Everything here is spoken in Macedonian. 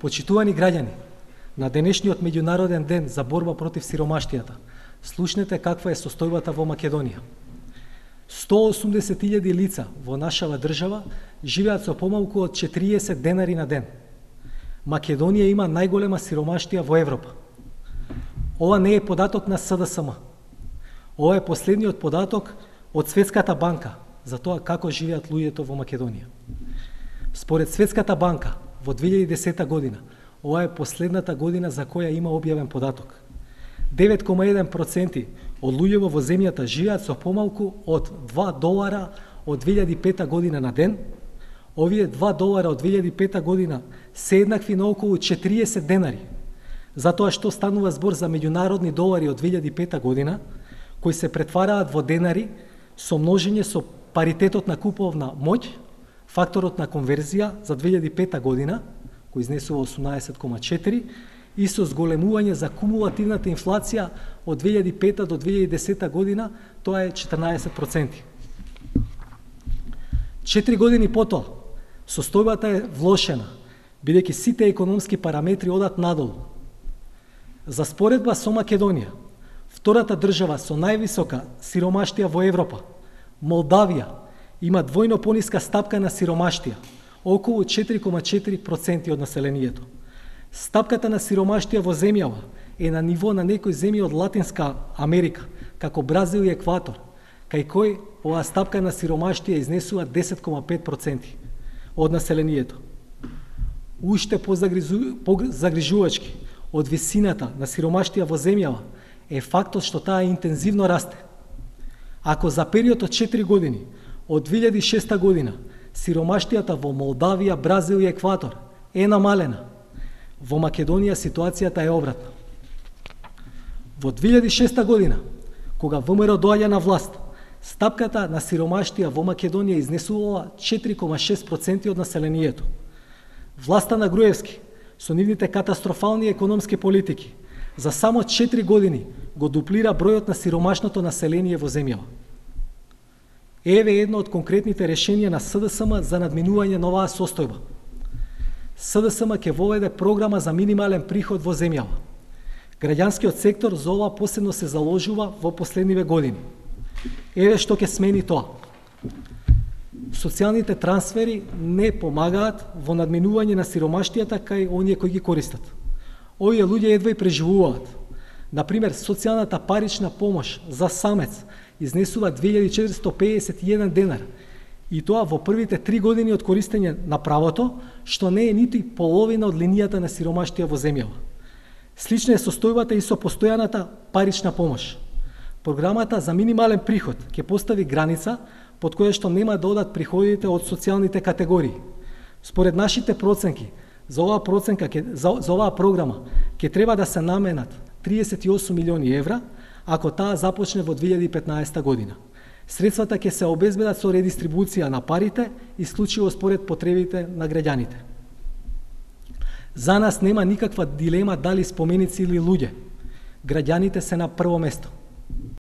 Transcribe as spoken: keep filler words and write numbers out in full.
Почитувани граѓани, на денешниот меѓународен ден за борба против сиромаштијата, слушнете каква е состојбата во Македонија. сто осумдесет илјади лица во нашава држава живеат со помалку од четириесет денари на ден. Македонија има најголема сиромаштија во Европа. Ова не е податок на С Д С М. Ова е последниот податок од Светската банка за тоа како живеат луѓето во Македонија. Според Светската банка, во две илјади и десета година, ова е последната година за која има објавен податок. девет кoma еден проценти од луѓето во земјата живеат со помалку од два долара од две илјади и пета година на ден. Овие два долара од две илјади и пета година се еднакви на околу четириесет денари, затоа што станува збор за меѓународни долари од две илјади и пета година, кои се претвараат во денари со множење со паритетот на куповна моќ, факторот на конверзија за две илјади и пета година, кој изнесува осумнаесет кoma четири, и со зголемување за кумулативната инфлација од две илјади и пета до две илјади и десета година, тоа е четрнаесет проценти. Четири години потоа, состојбата е влошена, бидејќи сите економски параметри одат надолу. За споредба со Македонија, втората држава со највисока сиромаштија во Европа, Молдавија, има двојно пониска стапка на сиромаштија, околу четири кoma четири проценти од населението. Стапката на сиромаштија во земјава е на ниво на некои земји од Латинска Америка, како Бразил и Екватор, кај кој оваа стапка на сиромаштија изнесува десет кoma пет проценти од населението. Уште позагрижувачки од висината на сиромаштија во земјава е фактот што таа интензивно расте. Ако за период од четири години, од две илјади и шеста година, сиромаштијата во Молдавија, Бразил и Екватор е намалена, во Македонија ситуацијата е обратна. Во две илјади и шеста година, кога В М Р доаѓа на власт, стапката на сиромаштија во Македонија изнесувала четири кoma шест проценти од населението. Власта на Груевски, со нивните катастрофални економски политики, за само четири години го дуплира бројот на сиромашното население во земјава. Еве едно од конкретните решенија на С Д С М за надминување на оваа состојба. С Д С М ќе воведе програма за минимален приход во земјава. Граѓанскиот сектор за ова посебно се заложува во последниве години. Еве што ќе смени тоа. Социјалните трансфери не помагаат во надминување на сиромаштијата кај оние кои ги користат. Овие луѓе едва и преживуваат. Например, социјалната парична помош за самец изнесува две илјади четиристо педесет и еден денар, и тоа во првите три години од користење на правото, што не е ниту и половина од линијата на сиромаштија во земјава. Слична е состојбата и со постојаната парична помош. Програмата за минимален приход ќе постави граница под која што нема да одат приходите од социјалните категории. Според нашите проценки, за оваа проценка за, за оваа програма ќе треба да се наменат триесет и осум милиони евра, ако таа започне во две илјади и петнаесета година. Средствата ќе се обезбедат со редистрибуција на парите, исклучиво според потребите на граѓаните. За нас нема никаква дилема дали споменици или луѓе. Граѓаните се на прво место.